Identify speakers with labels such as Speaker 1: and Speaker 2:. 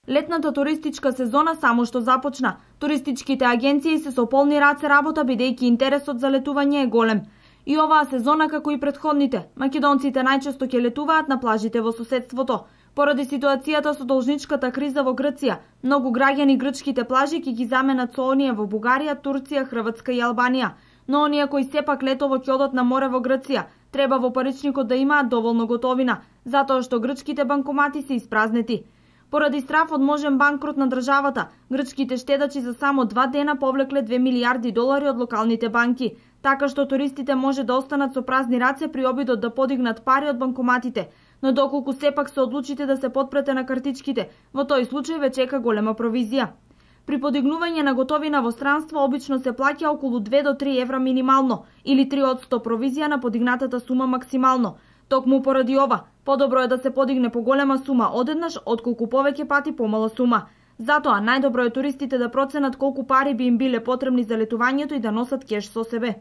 Speaker 1: Летната туристичка сезона само што започна. Туристичките агенции се со полни раце работа бидејќи интересот за летување е голем. И оваа сезона, како и претходните, македонците најчесто ќе летуваат на плажите во соседството. Поради ситуацијата со должничката криза во Грција, многу граѓани грчките плажи ќе ги заменат со оние во Бугарија, Турција, Хрватска и Албанија. Но оние кои сепак летово ќе одат на море во Грција, треба во паричникот да имаат доволно готовина, затоа што грчките банкомати се испразнети. Поради страф од можен банкрот на државата, грчките штедачи за само 2 дена повлекле 2 милијарди долари од локалните банки, така што туристите може да останат со празни раце при обидот да подигнат пари од банкоматите, но доколку сепак се одлучите да се подпрете на картичките, во тој случај ве чека голема провизија. При подигнување на готовина во странство обично се плаќа околу 2 до 3 евра минимално или 3% провизија на подигнатата сума максимално. Токму поради ова, подобро е да се подигне поголема сума одеднаш отколку повеќе пати помала сума. Затоа најдобро е туристите да проценат колку пари би им биле потребни за летувањето и да носат кеш со себе.